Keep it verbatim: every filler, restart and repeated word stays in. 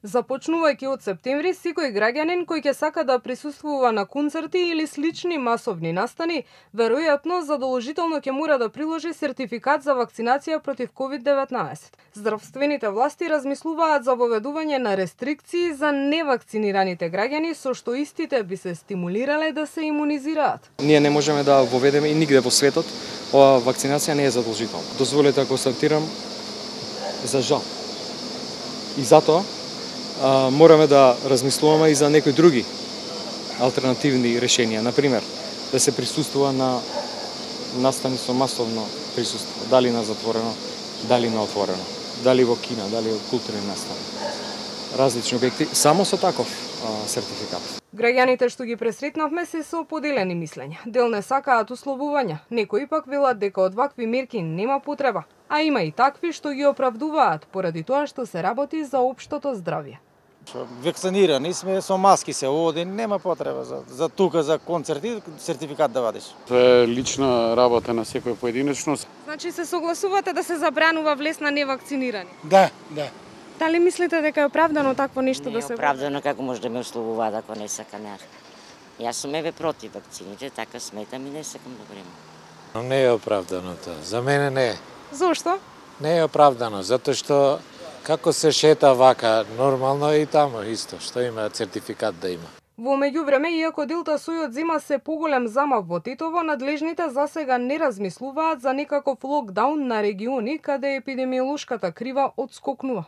Започнувајќи од септември, секој граѓанин кој ќе сака да присуствува на концерти или слични масовни настани, веројатно задолжително ќе мора да приложи сертификат за вакцинација против ковид деветнаесет. Здравствените власти размислуваат за воведување на рестрикции за невакцинираните граѓани, со што истите би се стимулирале да се имунизираат. Ние не можеме да воведеме и нигде во светот, ова вакцинација не е задолжителна. Дозволете да констатирам за жал. И затоа а, мораме да размислуваме и за некои други алтернативни решенија. Например, да се присуствува на настани со масовно присуство, дали на затворено, дали на отворено, дали во кино, дали во културни настани. Различни објекти, само со таков а, сертификат. Граѓаните што ги пресретнавме се со поделени мислења. Дел не сакаат условувања, некои пак велат дека од вакви мерки нема потреба, а има и такви што ги оправдуваат поради тоа што се работи за општото здравје. Вакцинирани сме, со маски се оди, нема потреба за, за тука, за концерти, сертификат да вадиш. Тоа е лична работа на секој поединечно. Значи се согласувате да се забранува влез на невакцинирани? Да, да. Дали мислите дека е оправдано такво нешто не да се... Не е оправдано, како може да ме условуваат ако не сакам ја. Јас сум еве против вакцините, така сметам и не сакам да примам. Не е оправдано тоа. За мене не е. Зошто? Не е оправдано, затоа што како се шета вака, нормално е и тамо исто, што има сертификат да има. Во меѓувреме, иако делта сојот зема се поголем замав во Тетово, надлежните засега не размислуваат за некаков локдаун на региони каде епидемиолошката крива отскокнува.